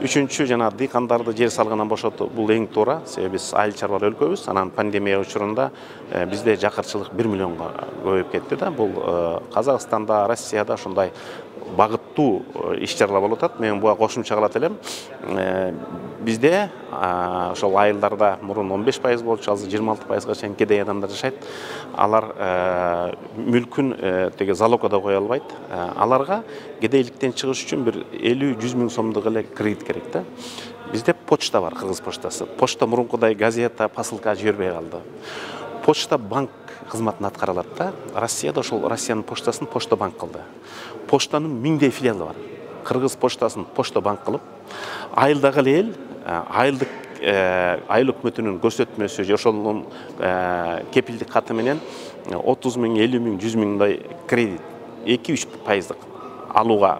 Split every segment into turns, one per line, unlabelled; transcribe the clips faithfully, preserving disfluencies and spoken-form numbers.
үчүнчү жана дыйкандарды жер салыгынан бошотуу бул эң туура. Себеби биз айыл чарбалар өлкөбүз. Анан пандемия учурунда бизде жакырчылык бир миллионго көбөйүп кетти да. Бул Казакстанда, Россияда ошондой багыттуу иш-чаралар болуп атат. Мен буга кошумча кылат элем. Бизде ошол айылдарда мурун он беш пайыз болчу, азыр жыйырма алты пайызга чейин кедей адамдар жашайт. Алар мүлкүн теге залогко кое албайт. Аларга кедейликтен чыгыш үчүн бир элүү жүз миң сомдук эле кредит керек да. Бизде почта бар, Кыргыз почтасы. Почта мурункудай газета, посылка жибербей калды. Почта банк кызматын аткара алат да. Россияда ошол Россиянын почтасын почта банк кылды. Почтанын миңдей филиалы бар. Кыргыз почтасын почта банк кылып, айылдагы эл айылдык айыл өкмөтүнүн көрсөтмөсү же ошонун кепилдик каты менен отуз миң, элүү миң, жүз миңдай кредит эки үч пайыздык алууга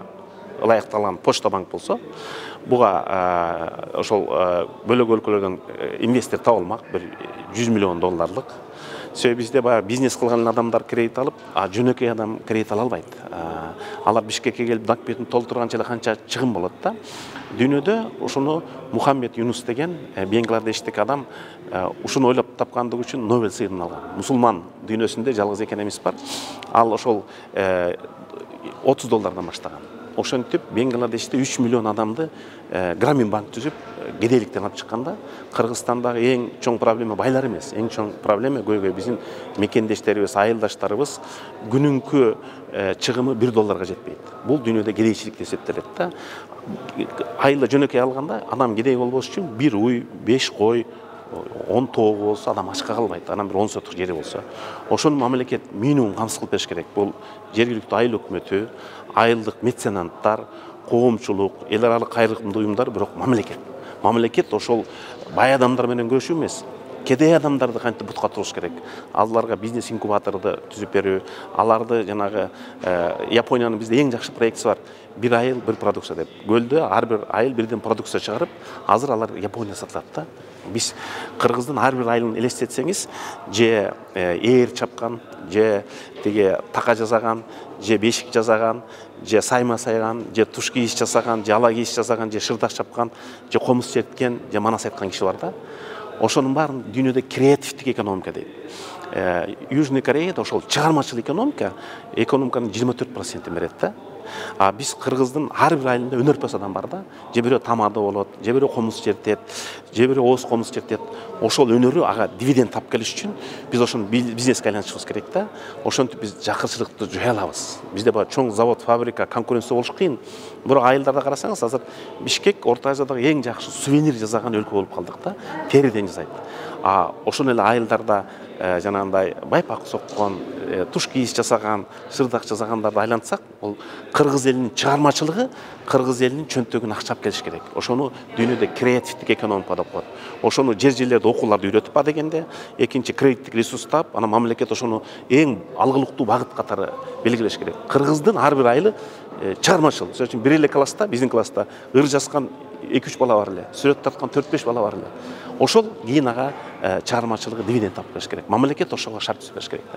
ылайыкталган почта банк болсо, буга ошол бөлөк өлкөлөрдөн инвестор табылмак, бир жүз миллион долларлык. Себеби бизде баягы бизнес кылган адамдар кредит алып, а жөнөкөй адам кредит ала албайт. Алар Бишкекке келип документин толтурганча эле канча чыгым болот да. Дүйнөдө ушуну Мухаммед Юнус деген Бангладештик адам ушуну ойлоп тапкандыгы үчүн Нобель сыйын алган. Мусулман дүйнөсүндө жалгыз экономист бар. Ал ошол отуз доллардан баштаган. Ошентип Бангладеште үч миллион адамды Грамин банк түзүп кедейликтен алып чыкканда, Кыргызстандагы эң чоң проблема байлар эмес, эң чоң проблема көйгөй биздин мекендештерибиз, айылдаштарыбыз күнүнкү чыгымы бир долларга жетпейт. Бул дүйнөдө кедейчилик деп эсептелет да. Айылда жөнөкөй алганда адам кедей болбош үчүн бир уй, беш кой, он тоого болсо адам ачка калбайт. Анан бир он сотук жери болсо, ошону мамлекет минимум камсыз кылып бериш керек. Бул жергиликтүү айыл өкмөтү, айылдык меценаттар, коомчулук, эл аралык кайрымдуу уюмдар, бирок мамлекет. Мамлекет ошол бай адамдар менен күрөшүү эмес, кедей адамдарды кантип бутка туруш керек. Аларга бизнес инкубаторду түзүп берүү, аларды жанагы Япониянын бизде эң жакшы проектиси бар. Бир айыл, бир продукция деп. Көлдө ар бир айыл бирден продукция чыгарып, азыр алар Япония сатылат да. Биз Кыргыздын ар бир айылын элестетсеңиз, же ээр чапкан, же теге така жасаган, же бешик жасаган, же сайма сайган, же туш кийиш жасаган, же ала кийиш жасаган, же шырдак чапкан, же комуз черткен, же манас айткан киши бар да. Ошонун баарын дүйнөдө креативдик экономика дейт. Южный Кореяда ошол чыгармачыл экономика экономиканын жыйырма төрт процентин берет да. А биз Кыргыздын ар бир айылында өнөрпөс адам бар да. Же бирөө тамада болот, же бирөө комуз чертет, же бирөө ооз комуз чертет. Ошол өнөрү ага дивиденд тап келиш үчүн биз ошону бизнеске айлантышыбыз керек да. Ошентип биз жакырчылыкты жоя алабыз. Бизде баа чоң завод, фабрика, конкуренция болуш кыйын. Бирок айылдарда карасаңыз, азыр Бишкек Орто Азиядагы эң жакшы сувенир жасаган өлкө болуп калдык да. Териден жасайт. А ошол эле айылдарда жанагындай байпак соккон, туш кийиш жасаган, шырдак жасагандарды айлантсак, бул Кыргыз элинин чыгармачылыгы, Кыргыз элинин чөнтөгүнө акчап келиш керек. Ошону дүйнөдө креативдик экономика деп коет. Ошону жер-жерлерде окууларды үйрөтүп ба дегенде, экинчи кредиттик ресурс таап, анан мамлекет ошону эң алгылыктуу багыт катары белгилеш керек. Кыргыздын ар бир айылы чыгармачыл. Мисалы үчүн бир эле класста, биздин класста ыр жазган эки үч бала бар эле, сүрөт тарткан төрт беш бала бар эле. Ошол кийин ага чыгармачылыгы дивиденд тапып келиш керек. Мамлекет ошого шарт түзүп бериш керек.